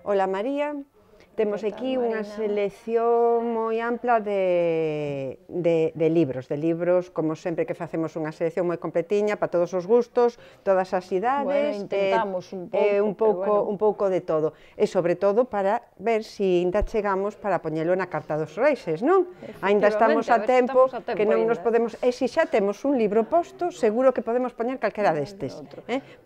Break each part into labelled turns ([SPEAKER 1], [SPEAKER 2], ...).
[SPEAKER 1] Ola María, temos aquí unha selección moi ampla de libros, como sempre que facemos unha selección moi completiña para todos os gustos, todas as idades,
[SPEAKER 2] intentamos un
[SPEAKER 1] pouco de todo, e sobre todo para ver se ainda chegamos para poñelo na Carta dos Reixes, non? Ainda estamos a tempo que non nos podemos, e se xa temos un libro posto, seguro que podemos poñer calquera destes,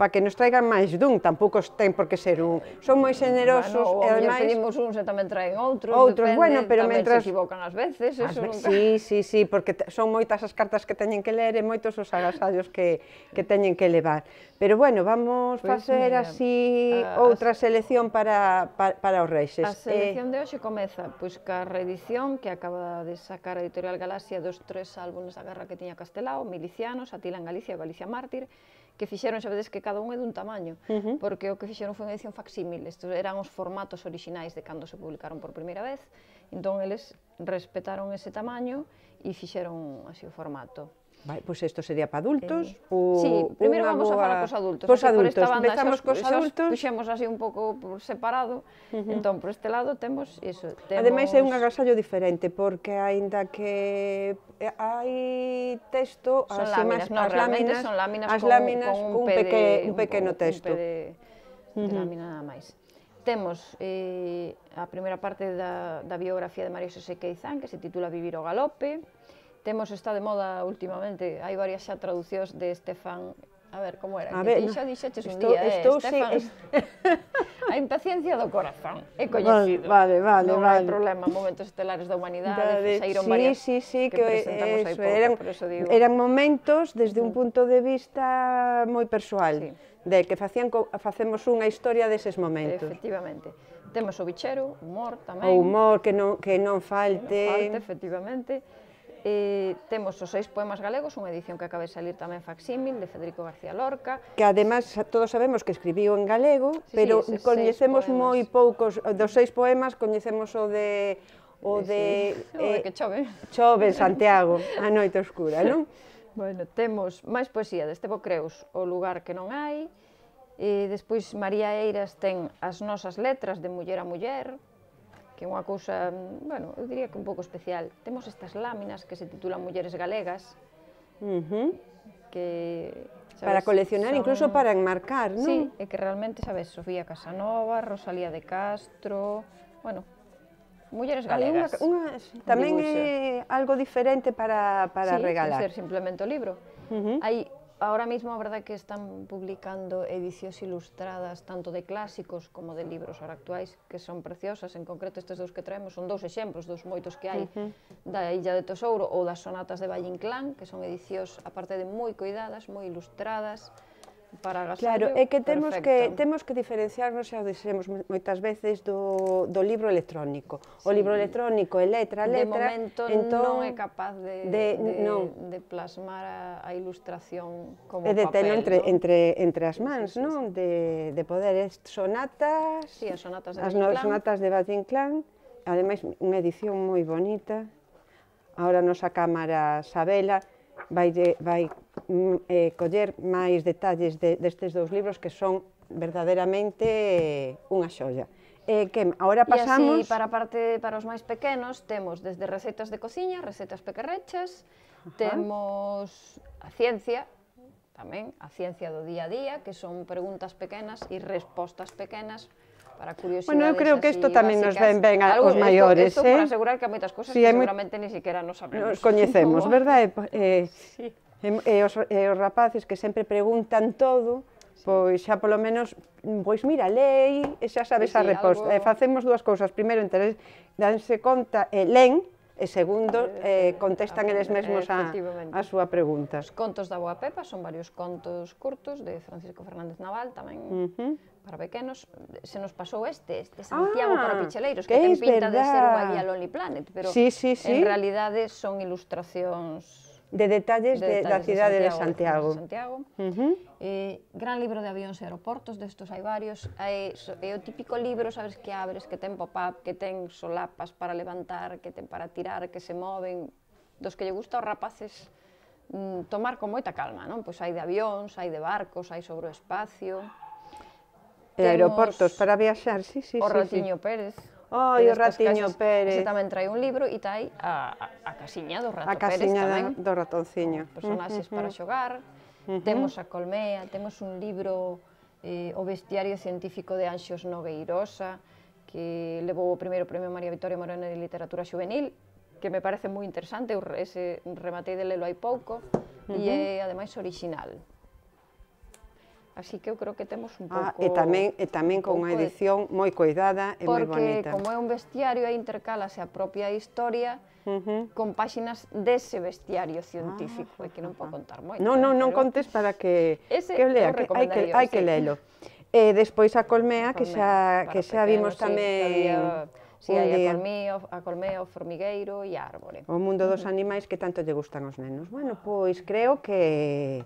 [SPEAKER 1] para que nos traigan máis dun, tampouco ten por que ser un, son moi xenerosos,
[SPEAKER 2] e ademais pedimos un, se tamén traen outros, depende, tamén se equivocan ás veces, eso nunca...
[SPEAKER 1] Sí, porque son moitas as cartas que teñen que ler e moitos os agasallos que teñen que levar. Pero bueno, vamos facer así outra selección para os Reixes.
[SPEAKER 2] A selección de hoxe comeza ca reedición que acaba de sacar a Editorial Galaxia dos 3 álbumes da guerra que tiña Castelao, Milicianos, Atila en Galicia e Galicia Mártir, que fixeron, xa vedes que cada un é dun tamaño, porque o que fixeron foi unha edición facsímil, estes eran os formatos orixinais de cando se publicaron por primeira vez, entón eles respetaron ese tamaño e fixeron así o formato.
[SPEAKER 1] Pois isto sería para adultos?
[SPEAKER 2] Sí, primeiro vamos a falar cos adultos.
[SPEAKER 1] Cos adultos, empezamos cos adultos.
[SPEAKER 2] Puxemos así un pouco por separado, entón por este lado temos iso.
[SPEAKER 1] Ademais é un agasallo diferente, porque aínda que hai texto,
[SPEAKER 2] as láminas con un pequeno texto. De lámina nada máis. Temos a primeira parte da biografía de María Xosé Queizán, que se titula Vivir o galope. Temos, está de moda últimamente, hai varias xa traducións de Estefan, a ver, como era? Que ti xa dixeches un día, Estefan, a impaciencia do corazón, é coñecido. Non hai problema, momentos estelares da humanidade, saíron varias que presentamos hai pouco, por eso digo.
[SPEAKER 1] Eran momentos desde un punto de vista moi persoal, de que facemos unha historia deses momentos.
[SPEAKER 2] Efectivamente. Temos o bichero, humor tamén.
[SPEAKER 1] O humor que non falte.
[SPEAKER 2] Efectivamente. Temos os 6 poemas galegos, unha edición que acaba de salir tamén facsímil, de Federico García Lorca.
[SPEAKER 1] Que ademais todos sabemos que escribiu en galego, pero coñecemos moi poucos, dos 6 poemas coñecemos o de...
[SPEAKER 2] O de que chove.
[SPEAKER 1] Chove, Santiago, a noite oscura, non?
[SPEAKER 2] Bueno, temos máis poesía de Estevo Creus, O lugar que non hai, e despois María Eiras ten As nosas letras, de Muller a Muller, que é unha cousa, bueno, eu diría que un pouco especial. Temos estas láminas que se titulan Mulleres Galegas, que...
[SPEAKER 1] Para coleccionar, incluso para enmarcar, non?
[SPEAKER 2] Sí, e que realmente, sabes, Sofía Casanova, Rosalía de Castro, bueno, mulleres galegas.
[SPEAKER 1] Tamén é algo diferente para regalar.
[SPEAKER 2] Sí, ser simplemente o libro. Hai... Ahora mismo, a verdade que están publicando edicións ilustradas tanto de clásicos como de libros ahora actuais que son preciosas, en concreto estes dous que traemos son 2 exemplos dos moitos que hai da Illa de Tesouro ou das sonatas de Valle Inclán, que son edicións, aparte de moi cuidadas, moi ilustradas, para agasallo.
[SPEAKER 1] Claro, é que temos que diferenciarnos, xa o dixemos moitas veces, do libro electrónico. O libro electrónico é letra a letra.
[SPEAKER 2] De momento non é capaz de plasmar a ilustración como papel.
[SPEAKER 1] E de telo entre as mans, non? De poder sonatas,
[SPEAKER 2] as
[SPEAKER 1] sonatas de Valle Inclán, ademais unha edición moi bonita. Ahora a nosa cámara Sabela vai coller máis detalles destes 2 libros que son verdadeiramente unha xoia. Ahora pasamos...
[SPEAKER 2] E así, para os máis pequenos, temos desde recetas de cociña, recetas pequerrechas, temos a ciencia, tamén, a ciencia do día a día, que son preguntas pequenas e respostas pequenas, para curiosidades así básicas.
[SPEAKER 1] Bueno, eu creo que isto tamén nos ven ben aos maiores,
[SPEAKER 2] Isto para asegurar que hai moitas cosas que seguramente ni siquiera nos sabemos.
[SPEAKER 1] Nos coñecemos, verdade? E os rapaces que sempre preguntan todo, pois xa polo menos, pois mira, lei e xa sabes a resposta. Facemos 2 cousas, primeiro, danse conta, len, e segundo, contestan eles mesmos a súa pregunta.
[SPEAKER 2] Os contos da Boa Pepa son varios contos curtos de Francisco Fernández Naval, tamén para pequenos. Se nos pasou este Santiago para Picheleiros, que ten pinta de ser unha guía Lonely Planet, pero en realidade son ilustracións
[SPEAKER 1] de detalles da cidade de Santiago.
[SPEAKER 2] Gran libro de avións e aeroportos, destos hai varios. É o típico libro, sabes, que abres, que ten pop-up, que ten solapas para levantar, que ten para tirar, que se moven, dos que lle gusta aos rapaces tomar con moita calma, non? Pois hai de avións, hai de barcos, hai sobre o espacio.
[SPEAKER 1] aeroportos para viaxar, sí.
[SPEAKER 2] O Ratiño Pérez.
[SPEAKER 1] Ai, o Ratiño Pérez.
[SPEAKER 2] Ese tamén trae un libro e trae a casiña do Rato Pérez tamén.
[SPEAKER 1] A casiña do ratonciño.
[SPEAKER 2] Personaxes para xogar. Temos a Colmea, temos un libro, o Bestiario científico de Anxos Nogueirosa, que levou o primeiro premio María Victoria Moreno de Literatura Juvenil, que me parece moi interesante, ese rematei de lelo hai pouco, e é, ademais, orixinal. Así que eu creo que temos un pouco...
[SPEAKER 1] E tamén con unha edición moi cuidada e moi bonita.
[SPEAKER 2] Porque, como é un bestiario, aí intercálase a propia historia con páxinas dese bestiario científico, e que non podo contar moito.
[SPEAKER 1] Non contes para que o lea, hai que lelo. E despois a Colmea, que xa vimos tamén...
[SPEAKER 2] Si, hai a Colmea, o Formigueiro e a Árbore.
[SPEAKER 1] O mundo dos animais que tanto lle gustan aos nenos. Bueno, pois creo que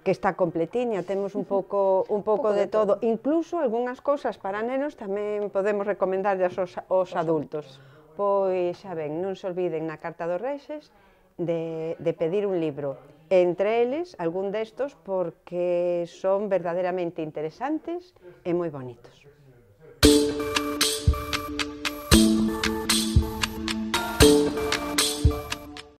[SPEAKER 1] está completiña, temos un pouco de todo, incluso algunhas cousas para nenos tamén podemos recomendarles aos adultos. Pois xa ven, non se olviden na Carta dos Reixes de pedir un libro, entre eles algún destos porque son verdadeiramente interesantes e moi bonitos.